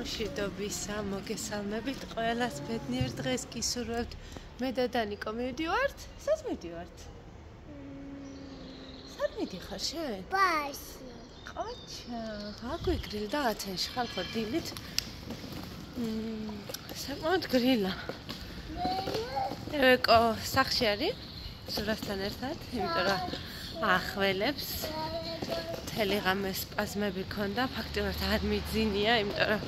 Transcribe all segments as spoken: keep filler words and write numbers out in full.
სამშვიდობისა, მოგესალმებით ყველას ბედნიერ დღეს გისურვებთ. მე და დანიკო მივდივართ? სად მივდივართ? სად მიდიხარ შენ? ბარში. ყოჩა, აგვიგრილდა ათენში ხარ ხო დილით? მმ, საკმაოდ გრილა. ევეკო სახში არის? ზურასთან ერთად, იმიტომ რომ ახველებს. მთელი ღამე სპაზმები ქონდა, ფაქტიურად არ მიძინია, იმიტომ რომ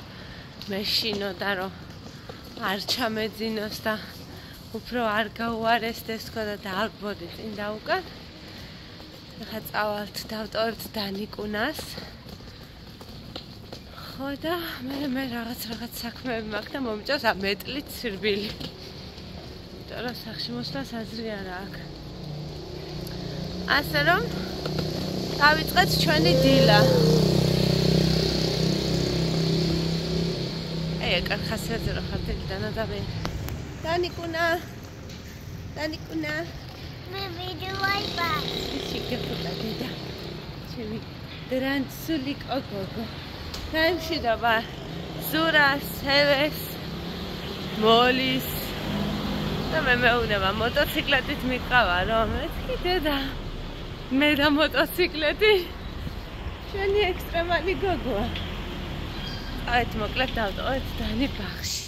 მეშინოდა რომ არ ჩამეძინოს და უფრო არ გაუარესდეს თქო და დააგვბოდი წინ და უკან. ახლა წავალთ დავტოვებთ დანიკუნას. ხო და მე მე რაღაც რაღაც საქმეები მაქვს და მომიწევს ამ მეტლით სირბილი. იმიტომ რომ სახში მოსვლას აზრი არა აქვს. ასე რომ დავიწყეთ ჩვენი დილა. ეე, კარხასიაზე რა ხარ დილიდან ადამიანი. დანიკუნა. დანიკუნა. მე ვიდეოი ბარ. ისე გეფუტა დედა. ჩემი დრანცული კოკო. გამშვიდობა. ზურას, ევეს, მოლის. და მე მეუნება მოტოციკლეტით მიყავა რომ მეთქი დედა. მე და მოტოციკლეტი შენი ექსტრემალი გოგოა. აი მოკლედ დავტოვეთ დანი ბაღში.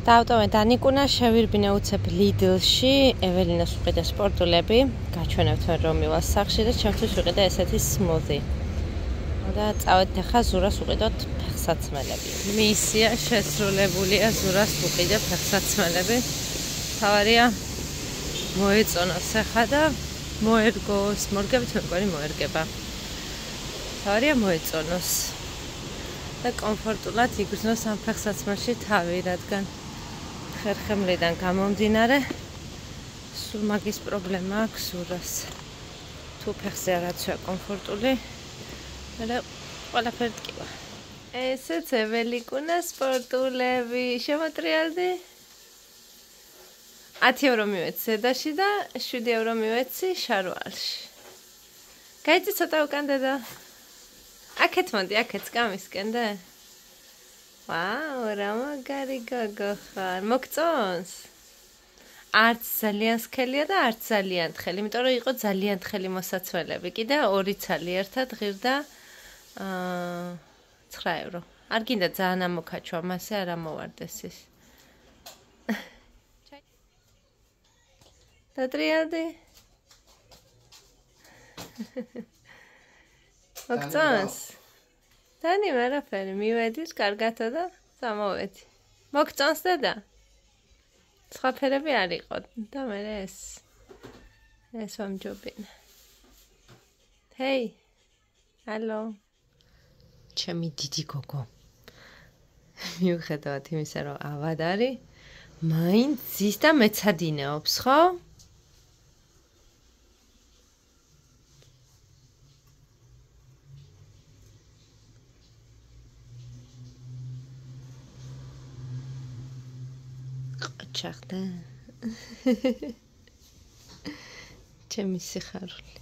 დავტოვეთ დანიკუნა, შევირბინე უცებ ლიდლში, ეველინას უყიდა სპორტულები, გაჩვენებთ მე რომ მივალ სახში და ჩემთვის უყიდა ესეთი სმუზი. და წავედით ახლა ზურას უყიდოთ ფეხსაცმელები. მისია შესრულებულია, ზურას უყიდე ფეხსაცმელები. თავარია მოეწონოს ახლა და მოერგოს, მორგებით მეგონი მოერგება. თავარია მოეწონოს. და კომფორტულად იგრძნოს ამ ფეხსაცმელში თავი, რადგან ხერხემლიდან გამომდინარე სულ მაგის პრობლემა აქვს ზურას. თუ ფეხზე არაცვია კომფორტული, მერე ყველაფერი ტკივა. ესეც ეველიკუნა სპორტულები, შემოტრიალდი? ათი ევრო მივეცი ზედაში და შვიდი ევრო მივეცი შარვალში. გაიწი ცოტა უკან დედა? აქეთ მოდი, აქეთ გამისკენდე? ვაუ, რა მაგარი გოგო ხარ. მოგწონს? არც ძალიან სქელია და არც ძალიან თხელი, იმიტომ რომ იყო ძალიან თხელი მოსაცველები. კიდე ორი ცალი ერთად ღირდა აა ცხრა ევრო. არ გინდა ძალიან ამოქაჩვა, მასე არ ამოვარდეს ის. დატრიალდი? მოგწონს? დანი ვერაფერი, მივედის კარგათა და სამოვედი. მოგწონს დედა? სხვა ფერები არ იყო და მე ეს ეს ვამჯობინე. ჰეი. ჰალო. ჩემი დიდი გოგო. მიუხედავად იმისა, რომ ავად არის, მაინც ზის და მეცადინეობს, ხო? ჩახდა. ჩემი სიხარული.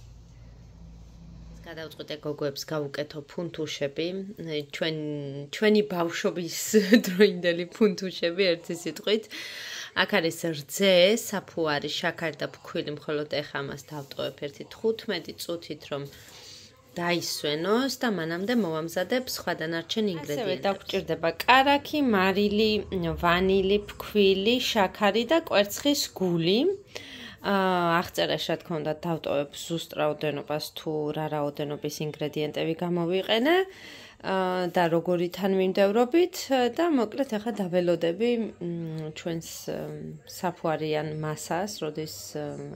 გადავწყვიტე გოგოებს გავუკეთო ფუნთუშები, ჩვენ ჩვენი ბავშვობის დროინდელი ფუნთუშები ერთი სიტყვით. აქ არის რძე, საფუარი, შაქარი და ფქვილი, მხოლოდ ეხა მას დავტოვებ ერთი თხუთმეტი წუთით რომ დაისვენოს და მანამდე მოვამზადებ სხვა დანარჩენ ინგრედიენტებს. ასევე დაგჭირდება კარაქი, მარილი, ვანილი, ფქვილი, შაქარი და კვერცხის გული. აღწერაში რა თქმა უნდა დავტოვებ ზუსტ რაოდენობას თუ რა რაოდენობის ინგრედიენტები გამოვიყენე და როგორი თან მიმდევრობით და მოკლედ ახლა დაველოდები ჩვენს საფუარიან მასას, როდის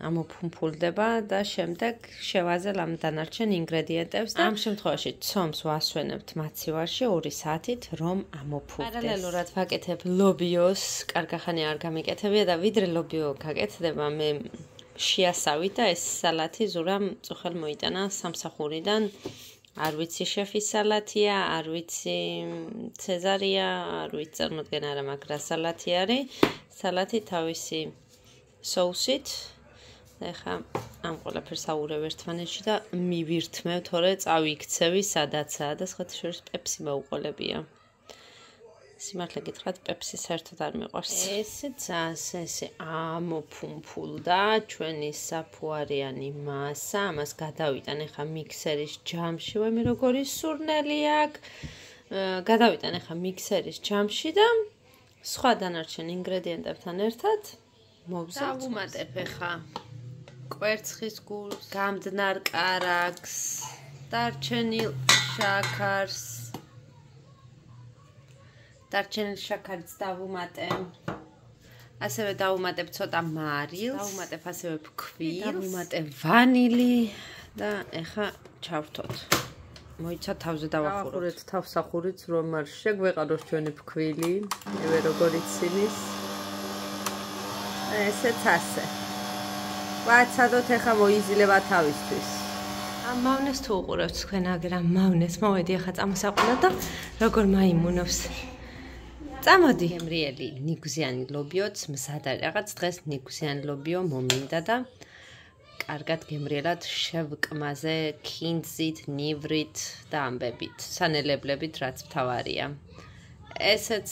ამოფუმფულდება და შემდეგ შევაზელ ამ დანარჩენ ინგრედიენტებს და ამ შემთხვევაში ცომს ვასვენებთ მაცივარში ორი საათით რომ ამოფუვდეს. პარალელურად ვაკეთებ ლობიოს, კარგახანი არ გამიკეთებია და ვიდრე ლობიო გაკეთდება მე შეასავით და ეს სალათი ზურამ წუხელ მოიტანა სამსახურიდან არ ვიცი შეფის სალათია, არ ვიცი ცეზარია, არ ვიცი წარმოდგენ არა, მაგრამ სალათი არის. სალათი თავისი соусით. ეხა ამ ყველაფერს აურევ ერთმანეთში და მივირთმევ, თორე წავიქცევი სადაცაა და სხვათა შორის პეპსი მოუყოლებია. სიმართლე გითხრათ, პეპსი საერთოდ არ მიყვარს. ესეც ასე ამოფუმფულდა ჩვენი საფუარიანი მასა, ამას გადავიტან ეხა მიქსერის ჯამში, ვემი როგორი სურნელი აქვს. გადავიტან ეხა მიქსერის ჯამში და სხვა დანარჩენ ინგრედიენტებთან ერთად მოვზავ. დავუმატებ ეხა კვერცხის გულს, გამდნარ კარაქს, დარჩენილ შაქარს. დარჩენილ შაქარს დავუმატებ. ასევე დავუმატებ ცოტა მარილს, დავუმატებ ასევე ფქვილს, დავუმატებ ვანილი და ეხა ჩავრთოთ. მოიცა თავზე დავახუროთ. თავსახურიც რომ არ შეგვეყაროს ჩვენი ფქვილი, ევე როგორ ცინის. ესეც ასე. ვაცადოთ ეხა მოიზილება თავისთვის. ამ მავნეს თუ უყურებთ თქვენ აგერ ამ მავნეს, მოვედი ეხა წამოსაყულა და როგორ მაიმუნობს. წამოდი. გემრიელი ნიგვზიანი ლობიოც მზად არის. რაღაც დღეს ნიგვზიანი ლობიო მომინდა და კარგად გემრიელად შევკმაზე ქინძით, ნივრით და ამბებით, სანელებლებით, რაც მთავარია. ესეც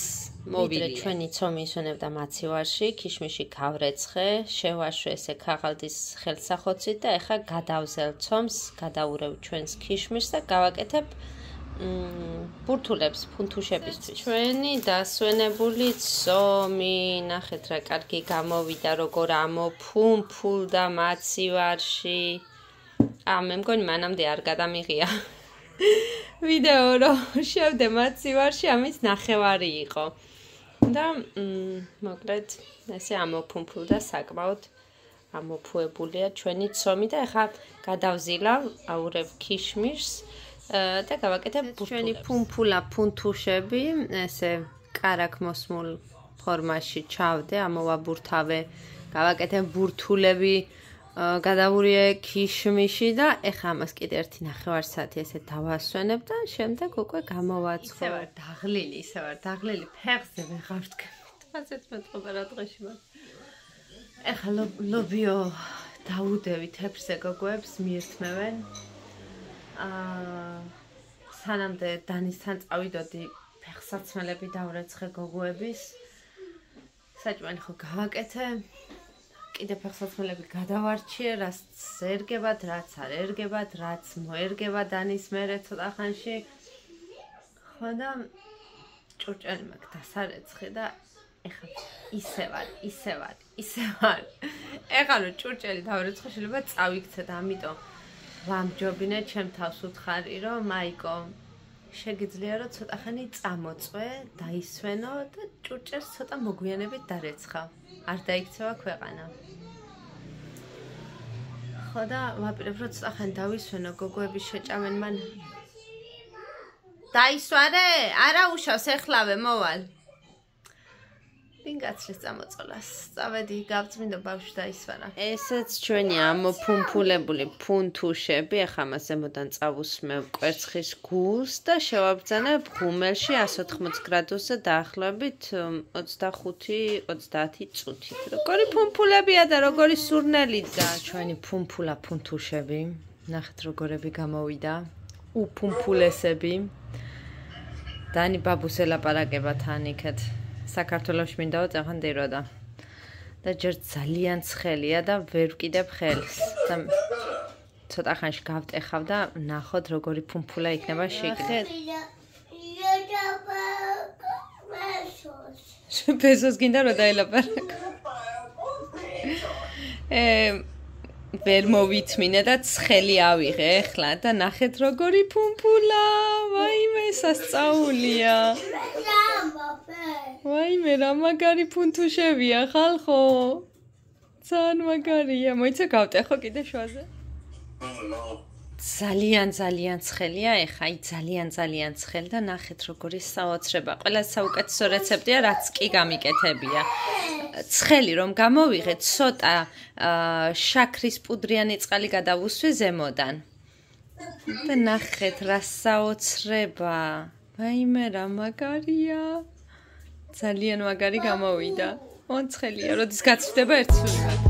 მოვიდრე ჩვენი ცომი ისვენებდა მაცივარში, ქიშმიში გავრეცხე, შევაშვე ესე ქაღალდის ხელსახოცით და ეხა გადავზელ ცომს, გადაურევ ჩვენს ქიშმიშს და გავაკეთებ ბურთულებს ფუნთუშებისთვის. ჩვენი დასვენებული ცომი, ნახეთ რა კარგი გამოვიდა, როგორ ამოფუმფულდა მაცივარში. ა მე მგონი მანამდე არ გადამიღია ვიდეო რომ შევდე მაცივარში, ამის ნახევარი იყო. და მოკლედ ესე ამოფუმფულდა საკმაოდ ამოფუებულია ჩვენი ცომი და ეხა გადავზილავ, აურევ ქიშმიშს და გავაკეთებ ბურთულებს. ჩვენი ფუმფულა ფუნთუშები, ესე კარაქმოსმულ ფორმაში ჩავდე, ამოვაბურთავე, გავაკეთებ ბურთულები, გადავურიე ქიშმიში და ეხა ამას კიდე ერთი ნახევარ საათი ესე დავასვენებ და შემდეგ უკვე გამოვაცხო. ისე ვარ დაღლილი, ისე ვარ დაღლილი, ფეხზე ვეღარ ვდგებით. ასეც მეტყობა რა დღეში მაგ. ეხა ლობიო დაუდევი თეფსზე გოგოებს მიირთმევენ. აა სანამდე დანისთან წავიდოდი, ფეხსაცმელები დავრეცხე გოგოების. საჭმელი ხო გავაკეთე. კიდე ფეხსაცმელები გადავარჩიე, რაც ერგებათ, რაც არ ერგებათ, რაც მოერგება დანის მერე ცოტა ხანში. ხო და ჭურჭელი მაქვს დასარეცხი და ეხა ისე ვარ, ისე ვარ, ისე ვარ. ეხა რომ ჭურჭელი დავრეცხე, შეიძლება წავიქცე და ამიტომ ვამჯობინე ჩემ თავს უთხარი, რომ მაიკო შეგიძლია რომ ცოტა ხანი წამოწვე, დაისვენო და ჭურჭელს ცოტა მოგვიანებით დარეცხავ. არ დაიქცევა ქვეყანა. ხო და ვაპირებ რომ ცოტა ხანი დავისვენო, გოგოები შეჭამენ მან. დაისვარე? არა უშავს, ეხლავე მოვალ. ვინ გაცლის წამოწოლას? წავედი, გავწმინდო ბავშვი დაისვარა. ესეც ჩვენი ამოფუმფულებული ფუნთუშები, ახლა მას ზემოდან წავუსმევ კვერცხის გულს და შევაბრძანებ ღუმელში εκατს ოთხმოცი გრადუსზე დაახლოებით ოცდახუთი ოცდაათი წუთით. როგორი ფუმფულებია და როგორი სურნელი და ჩვენი ფუმფულა ფუნთუშები. ნახეთ როგორები გამოვიდა. უფუმფულესები. დანი ბაბუს ელაპარაკება თან იქეთ. საქართველოში მინდა ვაწახან დიროდა და ჯერ ძალიან ცხელია და ვერ ვკიდებ ხელს და ცოტა ხანში გავტეხავ და ნახოთ როგორი ფუმფულა იქნება შიგნით. პესოს გინდა რომ დაელაპარაკო. ე ვერ მოვითმინე და ცხელი ავიღე ეხლა და ნახეთ როგორი ფუმფულა. ვაიმე სასწაულია. ვაიმე რა მაგარი ფუნთუშებია ხალხო. ძალიან მაგარია. მოიცა გავტეხო კიდე შუაზე. ძალიან ძალიან ცხელია ეხა, აი ძალიან ძალიან ცხელი და ნახეთ როგორი საოცრება. ყველა საუკეთესო რეცეპტია რაც კი გამიკეთებია. ცხელი რომ გამოვიღე, ცოტა შაქრის პუდრიანი წყალი გადავუსვი ზემოდან. და ნახეთ რა საოცრება. ვაიმე რა მაგარია. ძალიან მაგარი გამოვიდა. ოცხელია, როდის გაცვდება ერთსულად.